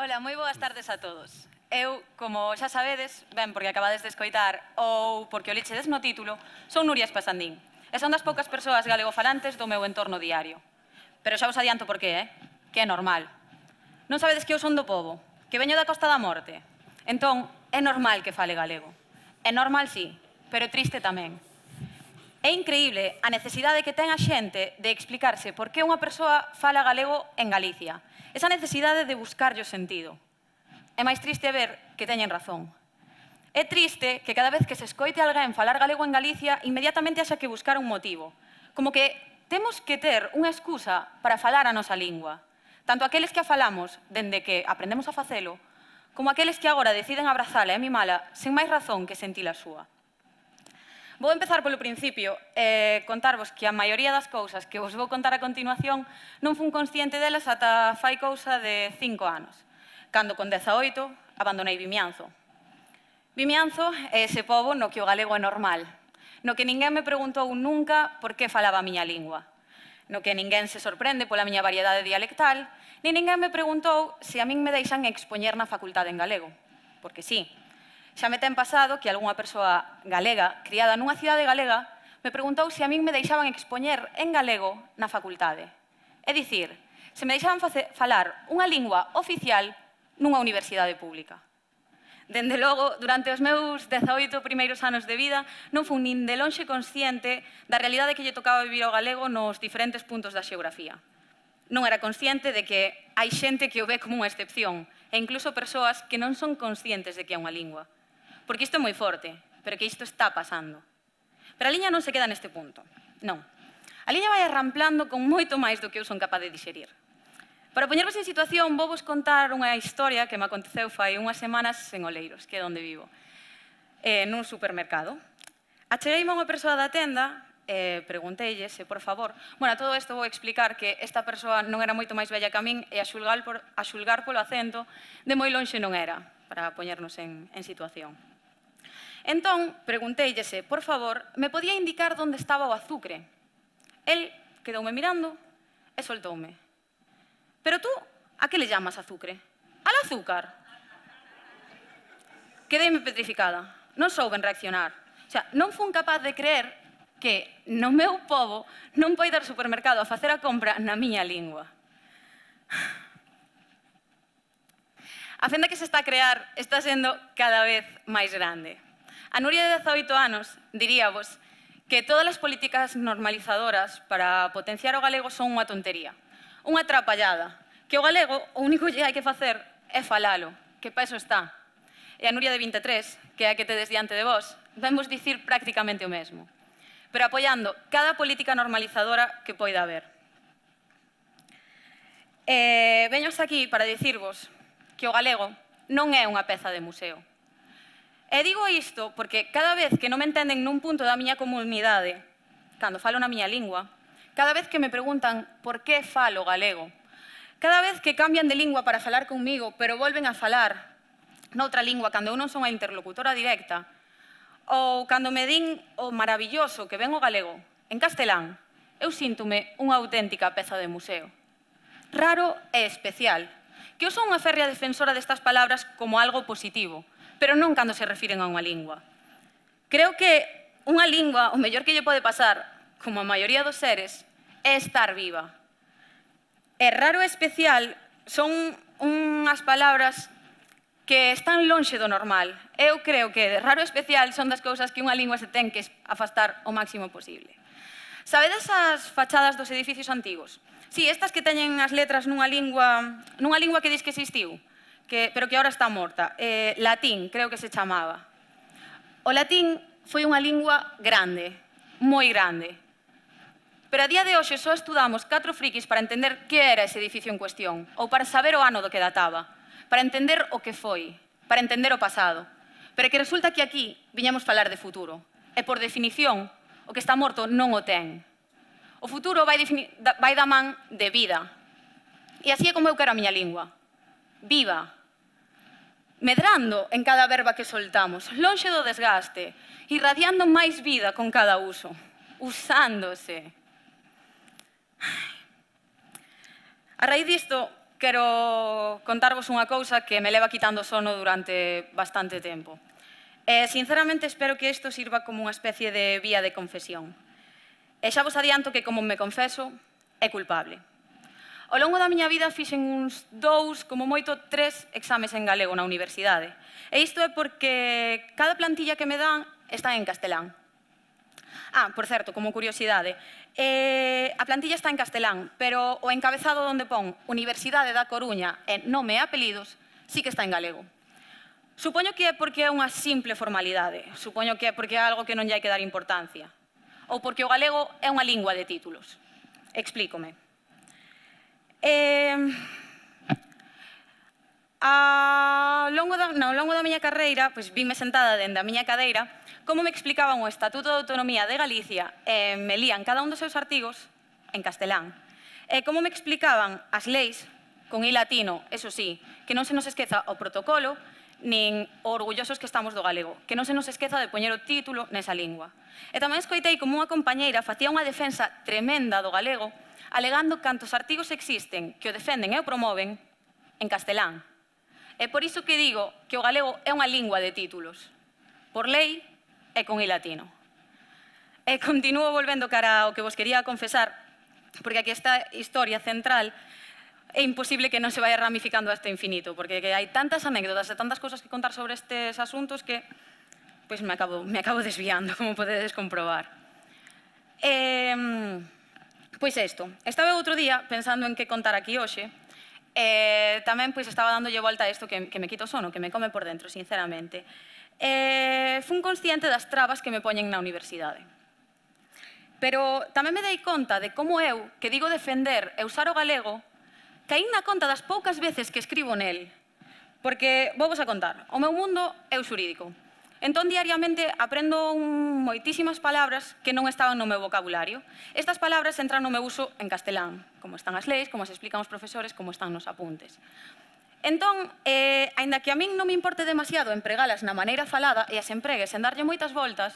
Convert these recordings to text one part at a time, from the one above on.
Ola, moi boas tardes a todos. Eu, como xa sabedes, ben porque acabades de escoitar ou porque o lichedes no título, son Nuria Espasandín e son das poucas persoas galegofalantes do meu entorno diario. Pero xa vos adianto por qué, que é normal. Non sabedes que eu son do pobo, que veño da Costa da Morte. Entón, é normal que fale galego. É normal, sí, pero triste tamén. É increíble a necesidade que ten a xente de explicarse por que unha persoa fala galego en Galicia. Esa necesidade de buscarlle o sentido. É máis triste ver que teñen razón. É triste que cada vez que se escoite alguén falar galego en Galicia, inmediatamente haxa que buscar un motivo. Como que temos que ter unha excusa para falar a nosa lingua. Tanto aqueles que a falamos dende que aprendemos a facelo, como aqueles que agora deciden abrazala e mimala sen máis razón que sentir a súa. Vou empezar polo principio e contarvos que a maioría das cousas que vos vou contar a continuación non fun consciente delas ata fai cousa de 5 anos, cando con 18 abandonei Vimianzo. Vimianzo é ese pobo no que o galego é normal, no que ninguén me preguntou nunca por que falaba a miña lingua, no que ninguén se sorprende pola miña variedade dialectal, nin ninguén me preguntou se a min me deixan expoñer na facultade en galego, porque sí. Xa me ten pasado que algunha persoa galega, criada nunha cidade galega, me preguntou se a min me deixaban expoñer en galego na facultade. É dicir, se me deixaban falar unha lingua oficial nunha universidade pública. Dende logo, durante os meus 18 primeiros anos de vida, non fun nin de lonxe consciente da realidade que lle tocaba vivir ao galego nos diferentes puntos da xeografía. Non era consciente de que hai xente que o ve como unha excepción, e incluso persoas que non son conscientes de que é unha lingua. Porque isto é moi forte, pero que isto está pasando. Pero a liña non se queda neste punto. Non. A liña vai arramplando con moito máis do que eu son capaz de dixerir. Para poñervos en situación, vou vos contar unha historia que me aconteceu fai unhas semanas en Oleiros, que é onde vivo, nun supermercado. Achegueime a unha persoa da tenda e pregunteille se, por favor... Bueno, a todo isto vou explicar que esta persoa non era moito máis bella que a min e a xulgar polo acento, de moi lonxe non era, para poñernos en situación. Entón, pregunteille se, por favor, me podía indicar onde estaba o azúcar. El quedoume mirando e soltoume. Pero tú, a que le llamas azúcar? Al azúcar. Quedeime petrificada. Non souben reaccionar. O sea, non fun capaz de creer que no meu pobo non poida ir ao supermercado a facer a compra na miña lingua. A fenda que se está a crear está sendo cada vez máis grande. A Nuria de 18 anos diríavos que todas as políticas normalizadoras para potenciar o galego son unha tontería, unha atrapallada, que o galego o único que hai que facer é falalo, que para eso está. E a Nuria de 23, que é a que tedes diante de vos, vemos dicir prácticamente o mesmo, pero apoiando cada política normalizadora que poida haber. Veño hasta aquí para dicirvos que o galego non é unha peza de museo. E digo isto porque cada vez que non me entenden nun punto da miña comunidade, cando falo na miña lingua, cada vez que me preguntan por que falo galego, cada vez que cambian de lingua para falar comigo, pero volven a falar noutra lingua cando eu non son a interlocutora directa, ou cando me din o maravilloso que ven o galego en castelán, eu síntome unha auténtica peza de museo. Raro e especial, que eu son unha férrea defensora destas palabras como algo positivo, pero non cando se refiren a unha lingua. Creo que unha lingua, o mellor que lle pode pasar, como a maioría dos seres, é estar viva. E raro e especial son unhas palabras que están lonxe do normal. Eu creo que raro e especial son das cousas que unha lingua se ten que afastar o máximo posible. Sabedes as fachadas dos edificios antigos? Sí, estas que teñen as letras nunha lingua que dis que existiu, pero que agora está morta. Latín, creo que se chamaba. O latín foi unha lingua grande, moi grande. Pero a día de hoxe só estudamos 4 frikis para entender que era ese edificio en cuestión, ou para saber o ano do que databa, para entender o que foi, para entender o pasado. Pero que resulta que aquí viñamos falar de futuro. E por definición, o que está morto non o ten. O futuro vai da man de vida. E así é como eu quero a miña lingua. Viva. Medrando en cada verba que soltamos, lonxe do desgaste, irradiando máis vida con cada uso, usándose. A raíz disto, quero contarvos unha cousa que me leva quitando sono durante bastante tempo. Sinceramente, espero que isto sirva como unha especie de vía de confesión. E xa vos adianto que, como me confeso, é culpable. Ao longo da miña vida fixen uns 2, como moito 3 exames en galego na universidade. E isto é porque cada plantilla que me dan está en castelán. Por certo, como curiosidade, a plantilla está en castelán, pero o encabezado onde pon Universidade da Coruña e nome e apelidos sí que está en galego. Supoño que é porque é unha simple formalidade, supoño que é porque é algo que non lle hai que dar importancia, ou porque o galego é unha lingua de títulos. Explícome. Ao longo da miña carreira, vime sentada dende a miña cadeira, como me explicaban o Estatuto de Autonomía de Galicia e me lían cada un dos seus artigos en castelán. E como me explicaban as leis, con i latino, eso sí, que non se nos esqueza o protocolo, nin o orgullosos que estamos do galego, que non se nos esqueza de poñer o título nesa lingua. E tamén escoitei como unha compañeira facía unha defensa tremenda do galego, alegando cantos artigos existen que o defenden e o promoven en castelán. É por iso que digo que o galego é unha lingua de títulos, por lei e con i latino. E continuo volvendo cara ao que vos quería confesar, porque aquí esta historia central é imposible que non se vaya ramificando hasta infinito, porque hai tantas anécdotas e tantas cousas que contar sobre estes asuntos que me acabo desviando, como podedes comprobar. Pois isto, estaba outro día pensando en que contar aquí hoxe, e tamén estaba dándolle volta a isto que me quita o sono, que me come por dentro, sinceramente. Fun consciente das trabas que me poñen na universidade. Pero tamén me dei conta de como eu, que digo defender e usar o galego, caín na conta das poucas veces que escribo nel. Porque, vou vos a contar, o meu mundo é o xurídico. Entón, diariamente, aprendo moitísimas palabras que non estaban no meu vocabulario. Estas palabras entran no meu uso en castelán, como están as leis, como as explican os profesores, como están nos apuntes. Entón, aínda que a min non me importe demasiado empregalas na maneira falada e as empregues en darlle moitas voltas,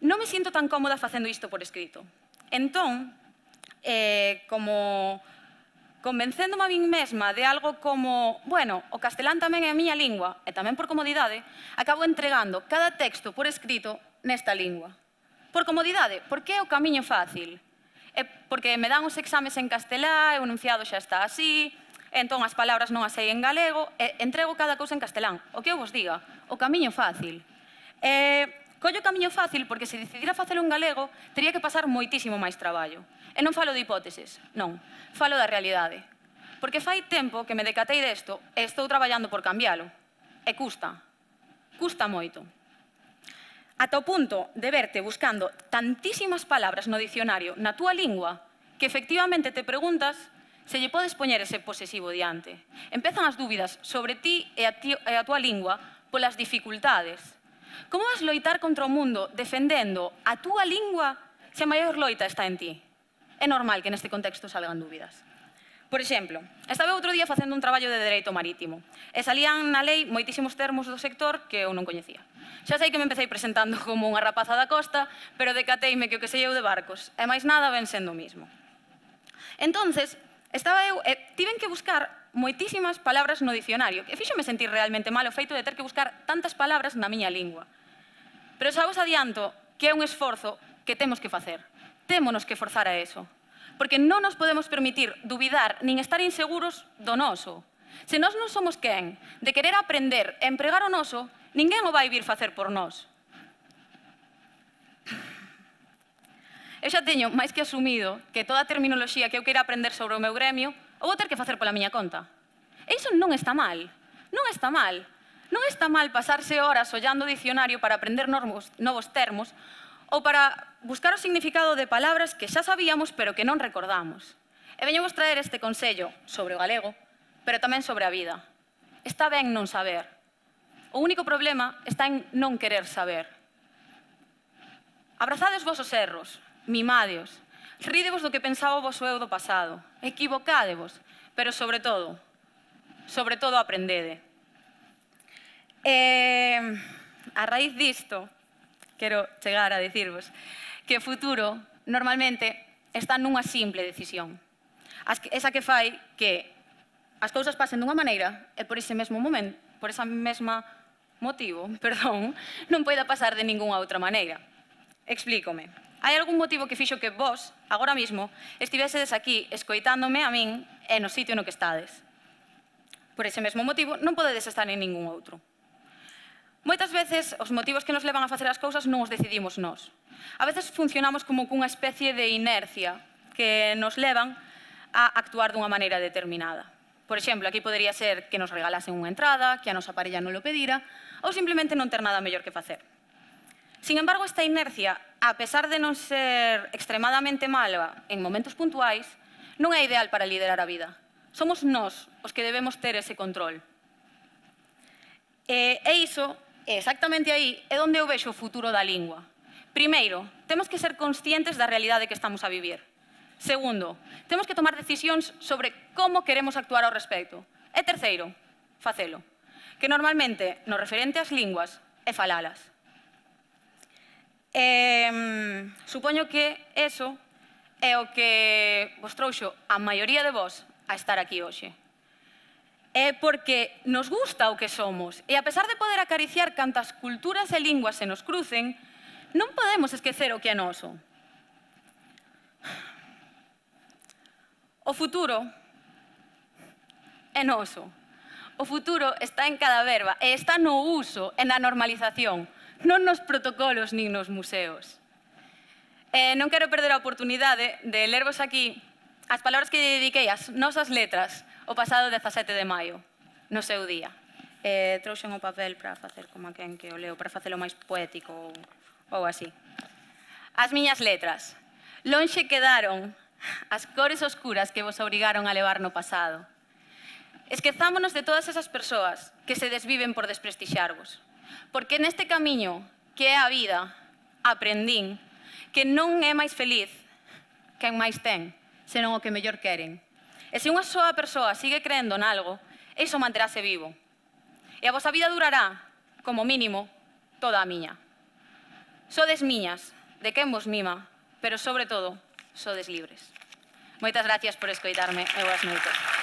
non me sinto tan cómoda facendo isto por escrito. Entón, como convencéndome a min mesma de algo como, bueno, o castelán tamén é a miña lingua, e tamén por comodidade, acabo entregando cada texto por escrito nesta lingua. Por comodidade, porque é o camiño fácil. É porque me dan os exames en castelán, o enunciado xa está así, entón as palabras non as sei en galego, e entrego cada cousa en castelán. O que eu vos diga, o camiño fácil. Collo o camiño fácil porque se decidira facelo en galego, tería que pasar moitísimo máis traballo. E non falo de hipóteses, non, falo da realidade. Porque fai tempo que me decatei desto e estou traballando por cambialo. E custa moito. Ata o punto de verte buscando tantísimas palabras no dicionario na túa lingua que efectivamente te preguntas se lle podes poñer ese posesivo diante. Empezan as dúbidas sobre ti e a túa lingua polas dificultades. Como vas loitar contra o mundo defendendo a túa lingua se a maior loita está en ti? É normal que neste contexto salgan dúbidas. Por exemplo, estaba outro día facendo un traballo de dereito marítimo e salían na lei moitísimos termos do sector que eu non coñecía. Xa sei que me empecé presentando como unha rapaza da costa, pero decateime que o que sei eu de barcos e máis nada ven sendo o mismo. Entonces, estaba eu e tiven que buscar moitísimas palabras no dicionario, que fíxome sentir realmente mal o feito de ter que buscar tantas palabras na miña lingua. Pero xa vos adianto que é un esforzo que temos que facer. Témonos que forzar a eso. Porque non nos podemos permitir dubidar nin estar inseguros do noso. Se nós non somos quen de querer aprender e empregar o noso, ninguén o vai vir facer por nós. Eu xa teño máis que asumido que toda a terminoloxía que eu queira aprender sobre o meu gremio o vou ter que facer pola miña conta. E iso non está mal. Non está mal. Non está mal pasarse horas ollando o dicionario para aprender novos termos ou para buscar o significado de palabras que xa sabíamos pero que non recordamos. E veño vos traer este consello sobre o galego, pero tamén sobre a vida. Está ben non saber. O único problema está en non querer saber. Abrazade os vosos erros, mimadeos, rídevos do que pensaba o voso eu do pasado, equivocádevos, pero sobre todo aprendede. A raíz disto, quero chegar a dicirvos que o futuro normalmente está nunha simple decisión. Esa que fai que as cousas pasen dunha maneira e por ese mesmo momento, por esa mesma motivo, non poida pasar de ningunha outra maneira. Explícome. Hai algún motivo que fixo que vos, agora mismo, estivesedes aquí escoitándome a min e no sitio no que estades. Por ese mesmo motivo, non podedes estar en ningún outro. Moitas veces, os motivos que nos levan a facer as cousas non os decidimos nós. A veces funcionamos como cunha especie de inercia que nos levan a actuar dunha maneira determinada. Por exemplo, aquí podería ser que nos regalasen unha entrada, que a nosa parella non lo pedira, ou simplemente non ter nada mellor que facer. Sin embargo, esta inercia, a pesar de non ser extremadamente mala en momentos puntuais, non é ideal para liderar a vida. Somos nós os que debemos ter ese control. E iso, exactamente aí, é onde eu vexo o futuro da lingua. Primeiro, temos que ser conscientes da realidade que estamos a vivir. Segundo, temos que tomar decisións sobre como queremos actuar ao respecto. E terceiro, facelo. Que normalmente, no referente ás linguas, é falalas. Supoño que eso é o que vos trouxo a maioría de vos a estar aquí hoxe. É porque nos gusta o que somos e a pesar de poder acariciar cantas culturas e linguas se nos crucen, non podemos esquecer o que é noso. O futuro é noso. O futuro está en cada verba e está no uso e na normalización, non nos protocolos nin nos museos. Non quero perder a oportunidade de lervos aquí as palabras que dediquei ás nosas letras o pasado 17 de maio, no seu día. Trouxen o papel para facer como a quen que o leo, para facelo máis poético ou así. As miñas letras. Lonxe quedaron as cores oscuras que vos obrigaron a levar no pasado. Esquezámonos de todas esas persoas que se desviven por desprestixarvos. Porque neste camiño que é a vida, aprendín que non é máis feliz quen máis ten, senón o que mellor queren. E se unha soa persoa sigue creendo nalgo, iso manterase vivo. E a vosa vida durará, como mínimo, toda a miña. Sodes miñas, de quen vos mima, pero sobre todo, sodes libres. Moitas gracias por escoitarme e boas noites.